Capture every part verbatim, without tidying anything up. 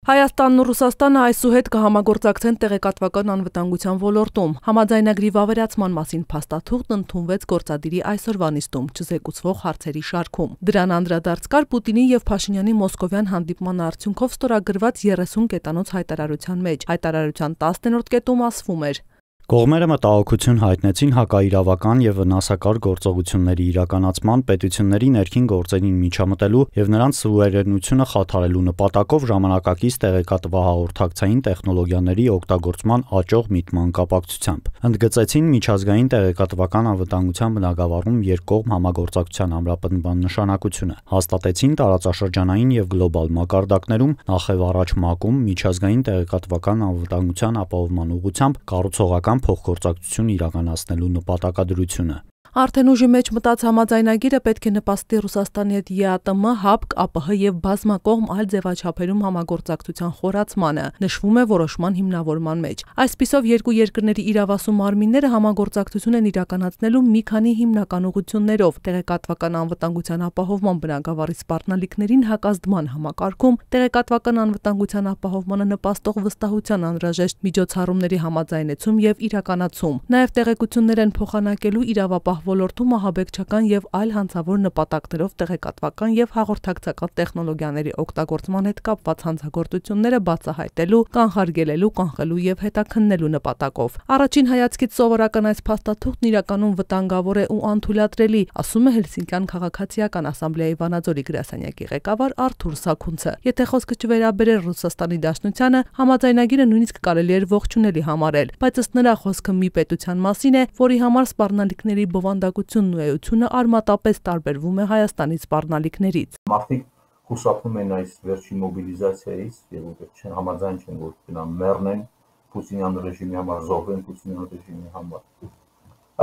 Հայաստանն ու Ռուսաստանը այսուհետ կհամագործակցեն տեղեկատվական անվտանգության ոլորտում։ Համաձայնագրի վավերացման մասին փաստաթուղթն ընդունվեց գործադիրի այսօրվա նիստում չզեկուցվող հարցերի շարքում։ Դրան անդրադարձ կար Պուտինի եւ Փաշինյանի մոսկովյան հանդիպման արդյունքով ստորագրված երեսուն կետանոց հայտարարության մեջ։ Հայտարարության տասներորդ կետում ասվում էր. Կողմերը մտահոգություն հայտնեցին հակաիրավական եւ վնասակար գործողությունների իրականացման, պետությունների ներքին գործերին միջամտելու եւ նրանց սուվերենությունը խաթարելու նպատակով ժամանակակից տեղեկատվահաղորդակցային տեխնոլոգիաների օգտագործման աճող միտման կապակցությամբ։ Ընդգծեցին միջազգային տեղեկատվական անվտանգության բնագավառում երկկողմ համագործակցության ամրապնդման նշանակությունը։ Հաստատեցին տարածաշրջանային եւ գլոբալ մակարդակներում նախևառաջ ՄԱԿ-ում միջազգային տեղեկատվական անվտանգության ապահովման ուղղությամբ կառուցողական փոխգործակցություն իրականացնելու նպատակադրությունը։ Արդեն ուժի մեջ մտած համաձայնագիրը պետք է նպաստի Ռուսաստանի հետ ԵԱՏՄ, ՀԱՊԿ, ԱՊՀ եւ բազմակողմ այլ ձևաչափերում համագործակցության խորացմանը, նշվում է որոշման հիմնավորման մեջ։ Այսպիսով երկու երկրների իրավասու մարմինները համագործակցություն են իրականացնելու մի քանի հիմնական ուղղություններով՝ տեղեկատվական անվտանգության ապահովման բնագավառի սպառնալիքներին հակազդման համակարգում, տեղեկատվական անվտանգության ապահովմանը նպաստող վստահության անհրաժեշտ միջոցառումների համաձայնեցում եւ իրականացում։ Նաեւ տեղեկություններ են փոխանակելու իրավապահ ոլորտում ահաբեկչական եւ այլ հանցավոր նպատակներով տեղեկատվական եւ հաղորդակցական տեխնոլոգիաների օգտագործման հետ կապված հանցագործությունները բացահայտելու, կանխարգելելու, կանխելու եւ հետաքննելու նպատակով։ Առաջին հայացքից սովորական այս փաստաթուղթն իրականում վտանգավոր է ու անթույլատրելի, ասում է Հելսինկյան քաղաքացիական ասամբլեայի Վանաձորի գրասենյակի ղեկավար Արթուր Սաքունցը։ Եթե խոսքը չվերաբերեր Ռուսաստանի Դաշնությանը, համաձայնագիրը նույնիսկ կարելի էր ողջունելի համարել, բայց ըստ նրա խոսքը մի պետության մասին է, որի համար սպառնալիքների բովանդակությունն ու էությունը արմատապես տարբերվում է Հայաստանի սպառնալիքներից։ Մարդիկ խուսափում են այս վերջին մոբիլիզացիայից եւ չեն համաձայն չեն որ գնան մեռնեն Պուտինյան ռեժիմի համար, զոհվեն Պուտինյան ռեժիմի համար։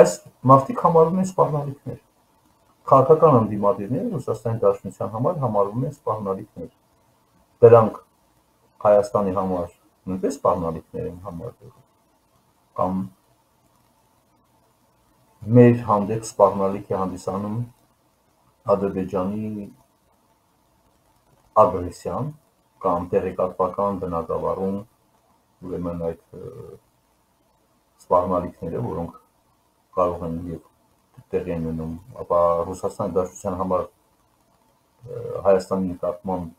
Այս մարդիկ համարվում են սպառնալիքներ։ Քաղաքական անդիմադիրները Ռուսաստանի Դաշնության համար համարվում են սպառնալիքներ։ Դրանք Հայաստանի համար նույնպես սպառնալիքներ են համարվում։ Կամ մեր հանդեպ սպառնալիք է հանդիսանում Ադրբեջանի ագրեսիան կամ տեղեկատվական բնագավառում ուրեմն այդ սպառնալիքները, որոնք կարող են եւ տեղի են ունենում, ապա Ռուսաստանի Դաշնության համար Հայաստանի նկատմամբ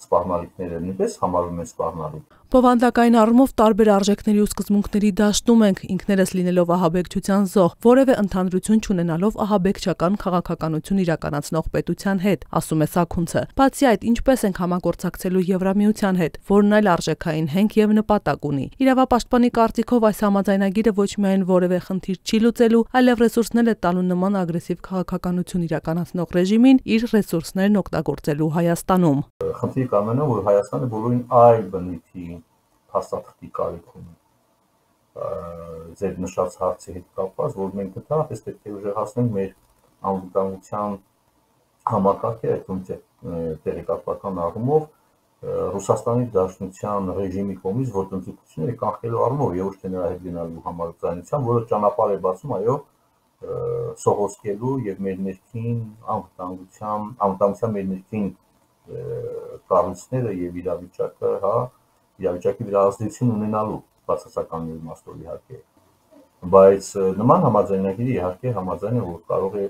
սպառնալիքները նույնպես համարվում են սպառնալիք։ Բովանդակային առումով տարբեր արժեքների ու սկզբունքների դաշտում ենք, ինքներս լինելով ահաբեկչության զոհ, որևէ ընդհանրություն չունենալով ահաբեկչական քաղաքականություն իրականացնող պետության հետ, ասում է Սաքունցը։ Բացի այդ, ինչպես ենք համագործակցելու Եվրամիության հետ, որն այլ արժեքային հենք եւ նպատակ ունի։ Իրավապաշտպանի կարծիքով այս համաձայնագիրը ոչ միայն որևէ խնդիր չի լուծելու, այլև ռեսուրսներ է տալու նման ագրեսիվ քաղաքականություն իրականացնող ռեժիմին իր ռեսուրսներն օգտագործելու Հայաստանում։ Խնդիրը կամենա, որ Հայաստանը բոլորին այլ բնույթի փաստաթղթի կարիք ունի։ Ձեր նշած հարցի հետ կապված, որ մենք դեռ պետք է ուժեղացնենք մեր անվտանգության համակարգը, այդ տեղեկատվական առումով Ռուսաստանի Դաշնության ռեժիմի կողմից ոտնձգությունները կանխելու առումով եւ ոչ թե նրա հետ գնալու համաձայնության, որը ճանապարհ է բացում, այո, սողոսկելու եւ մեր ներքին անվտանգության, անվտանգության մեր ներքին կառույցները եւ իրավիճակը, հա, իրավիճակի վրա ազդեցություն ունենալու բացասական իմաստով իհարկե, բայց նման համաձայնագիրը իհարկե համաձայն է, որ կարող է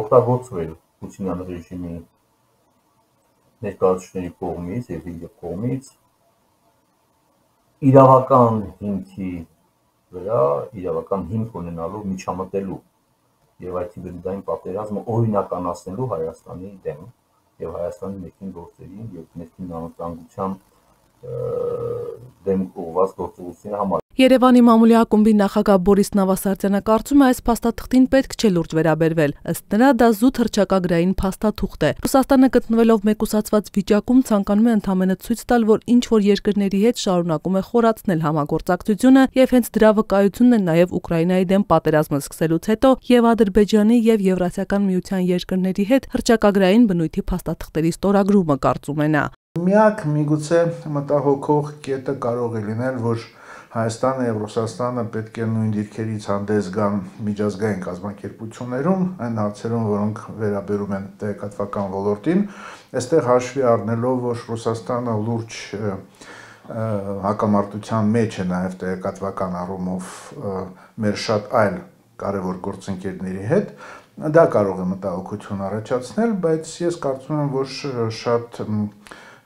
օգտագործվել Պուտինյան ռեժիմի ներկայացուցիչների կողմից եւ իր կողմից իրավական հիմքի վրա, իրավական հիմք ունենալու միջամտելու եւ այդ հիբրիդային պատերազմը օրինականացնելու Հայաստանի դեմ եւ Հայաստանի ներքին գործերին եւ ներքին անվտանգության դեմ ուղղված գործողությունների համար։ Երևանի մամուլի ակումբի նախագահ Բորիս Նավասարդյանը կարծում է այս փաստաթղթին պետք չէ լուրջ վերաբերվել։ Ըստ նրա դա զուտ հռչակագրային փաստաթուղթ է։ Ռուսաստանը գտնվելով մեկուսացված վիճակում ցանկանում է ընդհանրապես ցույց տալ, որ ինչ որ երկրների հետ շարունակում է խորացնել համագործակցությունը եւ հենց դրա վկայությունն է նաեւ Ուկրաինայի դեմ պատերազմը սկսելուց հետո եւ Ադրբեջանի եւ Եվրասիական միության երկրների հետ հռչակագրային բնույթի փաստաթղթերի ստորագրումը, կարծում է նա։ Միակ միգուցե մտահոգող կետը կարող է լինել, որ Հայաստանը եւ Ռուսաստանը պետք է նույն դիրքերից հանդես գան միջազգային կազմակերպություններում, այն հարցերում, որոնք վերաբերում են տեղեկատվական ոլորտին, այստեղ հաշվի առնելով, որ Ռուսաստանը լուրջ հակամարտության մեջ է նաեւ տեղեկատվական առումով մեր շատ այլ կարևոր գործընկերների հետ, դա կարող է մտահոգություն առաջացնել, բայց ես կարծում եմ, որ շատ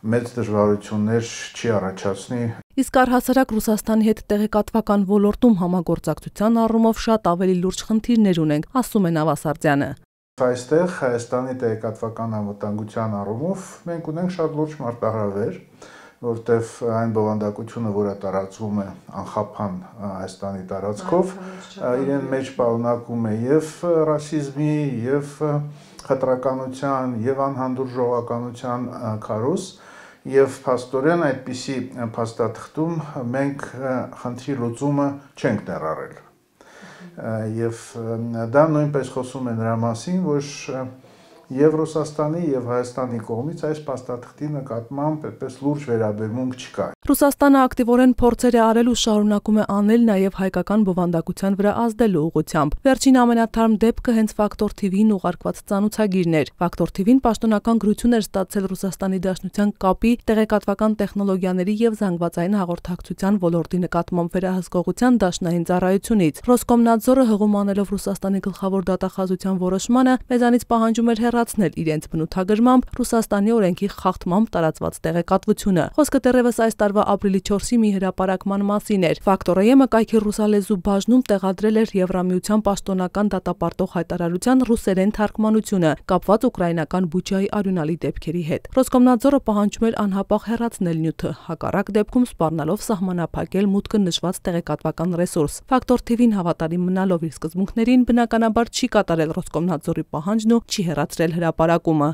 մեծ դժվարություններ չի առաջացնի։ Իսկ առհասարակ Ռուսաստանի հետ տեղեկատվական ոլորտում համագործակցության առումով շատ ավելի լուրջ խնդիրներ ունենք, ասում է Նավասարդյանը։ Այստեղ Հայաստանի տեղեկատվական անվտանգության առումով մենք ունենք շատ լուրջ մարտահրավեր, որտեղ այն բովանդակությունը, որը տարածվում է անխափան Հայաստանի տարածքով, իրեն մեջ պարունակում է եւ ռասիզմի, եւ խտրականության, եւ անհանդուրժողականության քարոզ, եւ փաստորեն այդպիսի փաստաթղթում մենք խնդրի լուծումը չենք ներառել։ Եվ դա նույնպես խոսում է նրա մասին, որ Եվ Ռուսաստանի եւ Հայաստանի կողմից այս փաստաթղթի նկատմամբ այդպես լուրջ վերաբերմունք չկա։ Ռուսաստանը ակտիվորեն փորձեր է արել ու շարունակում է անել նաեւ հայկական բովանդակության վրա ազդելու ուղղությամբ։ Վերջին ամենաթարմ դեպքը հենց Ֆակտոր թի վիին ուղարկված ծանոթագիրն էր։ Ֆակտոր թի վին պաշտոնական գրություն էր ստացել Ռուսաստանի Դաշնության կապի, տեղեկատվական տեխնոլոգիաների եւ զանգվածային հաղորդակցության ոլորտի նկատմամբ վերահսկողության դաշնային ծառայությունից։ Ռոսկոմնadzորը հղում անելով Ռուսաստանի գլխավոր դատախազության որոշմանը մեզանից պահանջում էր հեռացնել իրենց բնութագրմամբ Ռուսաստանի օրենքի խախտմամբ տարածված տեղեկատվությունը։ Խոսքը դեռևս այս տարվա ապրիլի չորսի մի հրապարակման մասին էր։ Ֆակտորը կայքի ռուսալեզու բաժնում տեղադրել էր Եվրամիության պաշտոնական դատապարտող հայտարարության ռուսերեն թարգմանությունը, կապված ուկրաինական Բուչայի արյունալի դեպքերի հետ։ Ռոսկոմնadzորը պահանջում էր անհապաղ հեռացնել նյութը, հակառակ դեպքում սպառնալով սահմանափակել մուտքը նշված տեղեկատվական ռեսուրս։ Ֆակտոր թի վին հավատարիմ մնալով իր սկզբունքներին, բնականաբար չի կատարել Ռոսկոմնadzորի պահանջն ու չի հեռացրել հրապարակումը։